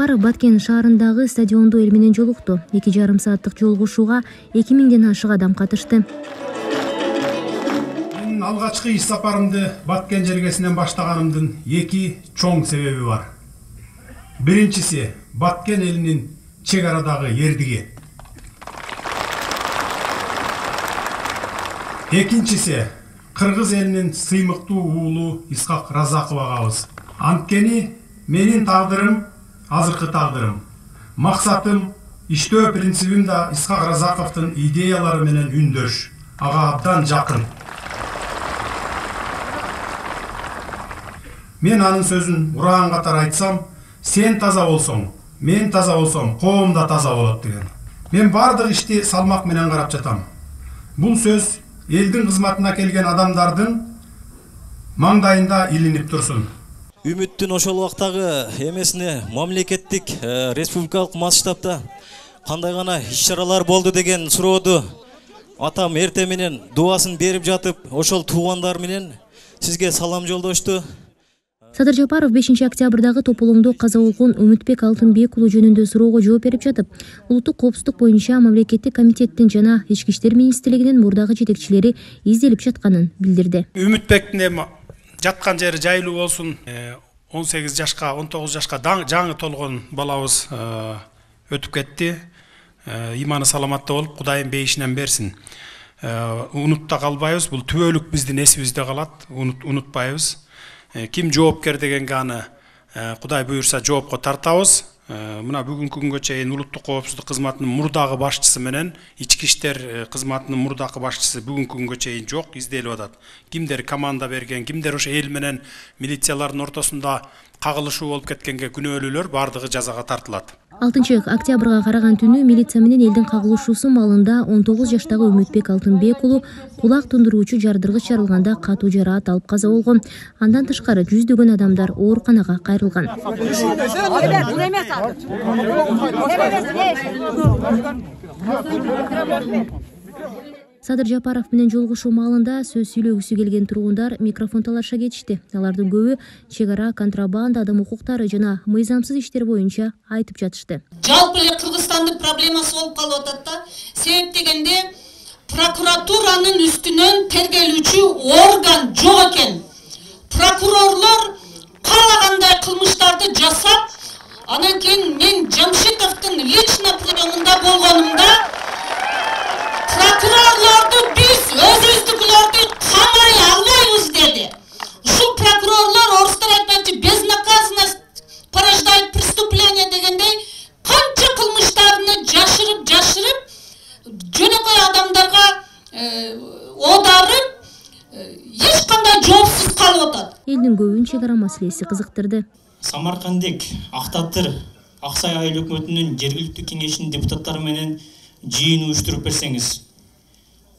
Жапаров Баткен шаарындагы стадиондо эл менен жолукту. 2,5 сааттык жолугушууга 2000ден ашык адам катышты. Мен алгачкы иш сапарымды Баткен жергесинен баштаганымдын 2 чоң себеби бар. Биринчиси Баткен элинин чек арадагы эрдиги. Экинчиси кыргыз элинин сыймыктуу уулу Исхак Разаков агабыз. Анткени менин тагдырым азыркы тагдырым. Максатым, иштөө принцибим да Исхак Разаковдун идеялары менен үндөш. Ага абдан жакын. Мен анын сөзүн ураган катары айтсам, сен таза болсоң, мен таза болсом, коом да таза болот деген. Мен бардык ишти салмак менен карап жатам. Бул сөз элдин кызматына келген адамдардын маңдайында илинип турсун. Үмүттүн ошол убактагы эмесине мамлекеттик республикалык масштабта кандай гана иш-чаралар болду деген сурооду атам эрте менен дубасын берип жатып, ошол туугандар менен сизге салам жолдошту. Садыр Жапаров 5 октябрдагы тополоңдо каза болгон Үмүтбек Алтынбек уулу жөнүндө суроого жооп берип жатып, улуттук коопсуздук боюнча мамлекеттик комитеттин жана Ички иштер министрлигинин мурдагы жетекчилери изделип жатканын билдирди. Үмүтбектин эми жаткан жери жайлуу болсун. 18 жашка, 19 жашка жаңы толгон балабыз өтүп кетти. Иманы саламатта болуп, Кудайым бейишинен берсин. Унутта калбайбыз, бул түбөлүк биздин эсибизде калат, унутпайбыз. Ким жоопкер дегенге аны Кудай буйрса жоопко тартабыз. Мына бүгүнкү күнгө чейин улуттук коопсуздук кызматынын мурдагы башчысы менен ички иштер кызматынын мурдагы башчысы бүгүнкү күнгө чейин жок, изделип атат. Кимдер команда берген, кимдер ошо эл менен милициялардын ортосунда кагылышуу болуп кеткенге күнөөлүүлөр бардыгы жазага тартылат. 6 октябрга караган түнү милиция менен элдин кагылышуусу маалында 19 жаштагы Үмүтбек Алтынбек уулу кулак тундуруучу жардыргыч жарылганда катуу жараат алып каза болгон. Андан тышкары жүздөгөн адамдар ооруканага кайрылган. Садыр Жапаров менен жолугушуу маалында сөз сүйлөгүсү келген тургундар микрофон талашка кетишти. Алардын көбү чек ара, контрабанда, адам укуктары жана мыйзамсыз иштер боюнча айтып жатышты. Жалпы эле Кыргызстандын проблемасы болуп калып атат да. Себеп дегенде прокуратуранын үстүнөн тергелүүчү орган жок экен. Прокурорлор каалагандай кылмыштарды жасап, анан кийин мен Жамшитовдун лично приемунда болгонумда прокурорлорду биз өзүбүздүкүлөрдү камай албайбыз деди. Ушул прокурорлор орустар айтмакчы безнаказанность порождает преступление дегендей канча кылмыштарны жашырып жөнөкөй адамдарга оодарып эч кандай жоопсуз калып атат. Элдин көбүн чек ара маселеси кызыктырды. Самаркандек, Актатыр, Аксай айыл өкмөтүнүн жергиликтүү кеңешинин депутаттары менен жыйын уюштуруп берсеңиз,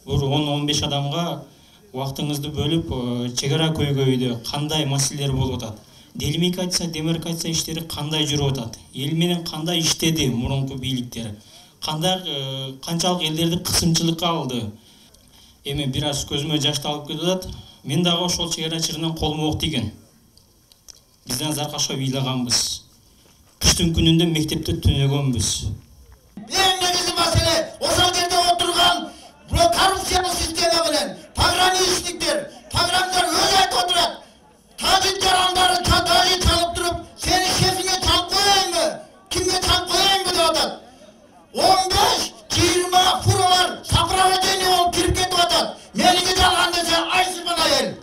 бул 10-15 адамга убактыңызды бөлүп, чек ара көйгөйдө кандай маселелер болуп атат, делимитация, демаркация иштери кандай жүрүп атат, эл менен кандай иштеди мурунку бийликтер, канчалык элдерди кысымчылыкка алды. Эми бир аз көзүмө жашты алып кетип атат. Мен дагы ошол чек арачыларынан колум ок тийген. Бизден заркашка ыйлаганбыз. Кыштын күнүндө мектепте түнөгөнбүз. Эң негизги маселе ошол жерде отурган коррупциялык система менен пограничниктер, пограмдар өзү айтып отурат. Тажик жарандары тажик чалып туруп, сени шефиңе чалып коеюңбу, кимге чалып коеюңбу деп атат. 15-20 фуралар сопровождение болуп кирип кетип атат. Меники жалган десе айсыпана эл.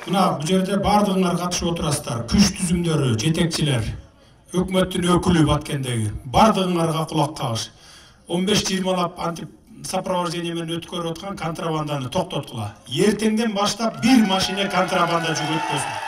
Мына бул жерде бардыгыңар катышып отурасыздар. Күч түзүмдөрү, жетекчилер, өкмөттүн өкүлү Баткендеги бардыгыңарга кулак кагыш. 15-20лап антип сопровождение менен өткөрүп аткан контрабанданы токтоткула. Эртеңден баштап бир машина контрабанда жүк өткөзүн.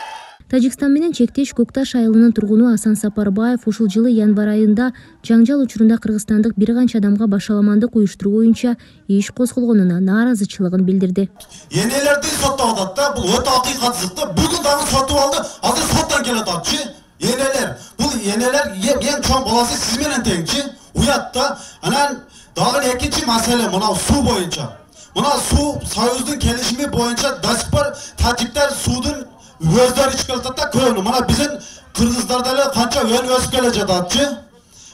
Тажикстан менен чектеш Көкташ айылынын тургуну Асан Сапарбаев ушул жылы январь айында жаңжал учурунда кыргызстандык бир канча адамга башаламандык уюштуруу боюнча иш козголгонуна нааразычылыгын билдирди. Энелерди соттоп атат да, бул өтө акыйкатсыз да. Бүгүн дагы сотуп алды, азыр соттон келет атчы. Энелер, бул энелер эң чоң баласы сиз менен теңчи. Уят да. Анан дагы экинчи маселе мына суу боюнча. Мына суу Союздун келишими боюнча до сих пор тажиктер суудун өздөрү ичип келатат да көбүнү. Мына биздин кыргыздар деле канча өсүп келе жататчы.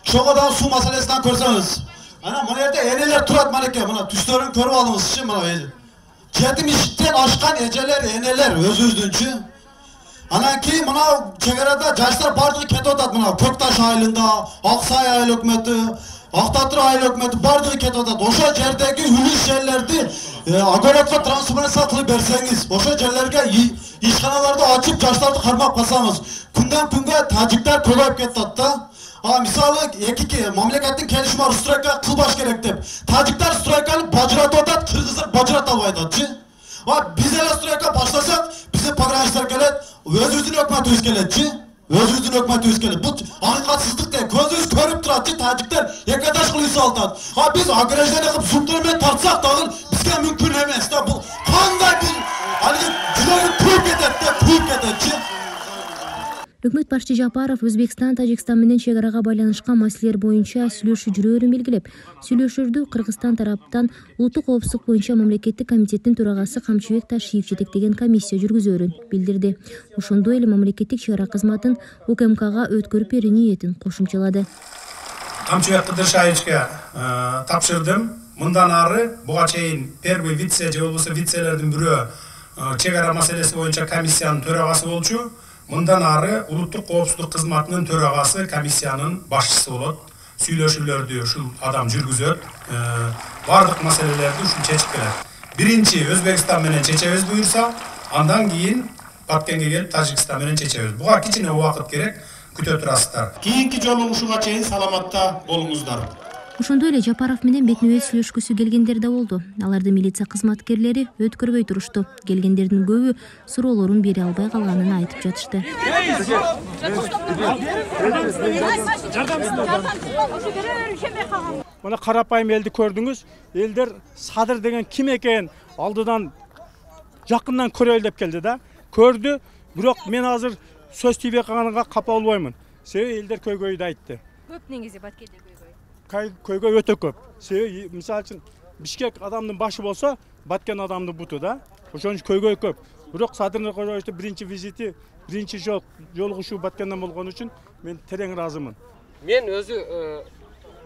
Ошого дагы суу маселесинен көрсөңүз. Ana bu yerde eneler turat malike buna tüslerin körü alınız için buna el. Kedim işitten aşkan eceler eneler özüzdünçü. Ana ki buna çekerada yaşlar bardığı kete otat buna Köktaş aylında, Aksay aylı hükümeti, Aktatır aylı hükümeti bardığı kete otat. Oşa yerdeki hülüs yerlerdi agoratla transferansa kılıp verseniz. Oşa yerlerge işkanalarda açıp yaşlarda karmak basamız. Günden günge tacikler kolayıp kettatda. Misalı iki mamleketin kelişme strayka kılbaş gerek dep. Tacikler straykanı bacırat otat, Kırgızlar bacırat albaydatçı. Biz ele strayka başlasak bize pagrançlar gelet, özüzdün hükümeti yüz geletçi. Özüzdün hükümeti yüz gelet. Bu hakikatsızlık değil, gözünüz körüp duratçı tacikler yakadaş kılıysa altat. Biz agrejden yakıp subdurmen tartsak dağın bizge mümkün emez. Bu kanday bu cüleri kuyup ketetçi. Өкмөт башчы Жапаров Өзбекстан, Тажикстан менен чек арага байланышкан маселелер боюнча сүйлөшүү жүрөөрүн белгилеп, сүйлөшүүлдү Кыргызстан тараптан улуттук коопсуздук боюнча мамлекеттик комитеттин төрагасы Камчыбек Ташиев жетектеген комиссия жүргүзөөрүн билдирди. Ошондой эле мамлекеттик чек ара кызматын УКМКга өткөрүп берүү ниетин кошумчалады. Камчыбек Ташиевичке тапшырдым. Мындан ары буга чейин первый вице же болбосо вицелердин бирөө чек ара маселеси боюнча комиссиянын төрагасы болчу. Мындан ары улуттук коопсуздук кызматынын төрагасы комиссиянын башчысы болот. Сүйлөшүүлөрдү ушул адам жүргүзөт. Бардык маселелерди ушул чечип келет. Биринчи Өзбекстан менен чечебиз буюрса, андан кийин Баткенге келип Тажикстан менен чечебиз. Буга кичине убакыт керек, күтө турасыздар. Кийинки жолу ушуга чейин саламатта болуңуздар. Ошондой эле Жапаров менен бетме-бет сүйлөшкүсү келгендер да болду. Аларды милиция кызматкерлери өткөрбөй турушту. Келгендердин көбү суроолорун бере албай калганын айтып жатышты. Мына карапайым элди көрдүңүз. Элдер Садыр деген ким экенин алдыдан жакындан көрөлү деп келди да. Көрдү, бирок мен азыр сөз тийбей калганга капа болбоймун. Себеби элдер көйгөйдү айтты. Көп негизи Баткенде көйгөй өтө көп. Себеби мисалы үчүн Бишкек адамдын башы болсо, Баткен адамдын буту да. Ошон үчүн көйгөй көп. Бирок Садыр Кожоевичтин биринчи визити, биринчи жолугушуу Баткенден болгон үчүн мен терең ыраазымын. Мен өзү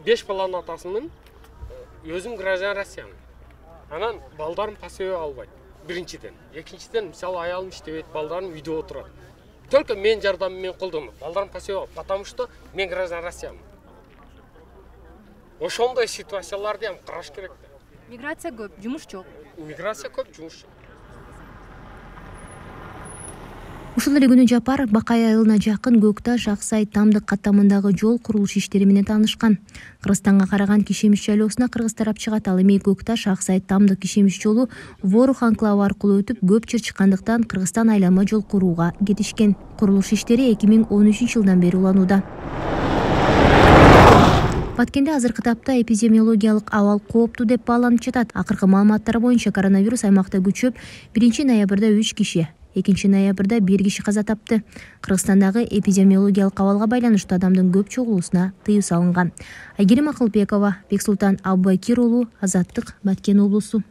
5 баланын атасымын. Өзүм граждан Россиямын. Анан балдарым пассиве албайт. Биринчиден. Экинчиден, мисалы аялым иштебейт, балдарым үйдө отурат. Только мен жардамым мен колдонот. Балдарым пассиве албайт, потому что мен граждан Россиямын. Ошондой ситуацияларды ham караш керек. Миграция көп, жумуш жок. Миграция көп, жумуш жок. Ушул эле күнү Жапаров Бакай айылына жакын Көкташ, Аксай, Тамдык каттамындагы жол курулуш иштери менен таанышкан. Кыргызстанга караган Кишемиш шайлоосуна кыргыз тарап чыгат. Ал эми Көкташ, Аксай, Тамдык Кишемиш жолу Ворух анклавы аркылуу өтүп, көп жер чыккандыктан Кыргызстан айлама жол курууга кетишкен. Курулуш иштери 2013-жылдан бери уланууда. Баткенде азыркы тапта эпидемиологиялык абал кооптуу деп бааланып жатат. Акыркы маалыматтар боюнча коронавирус аймакта күчөп, 1-ноябрда 3 киши, 2-ноябрда 1 киши каза тапты. Кыргызстандагы эпидемиологиялык абалга байланыштуу адамдын көп чогулуусуна тыюу салынган. Айгерим Акылбекова, Бексултан Абубакир уулу, Азаттык, Баткен облусу.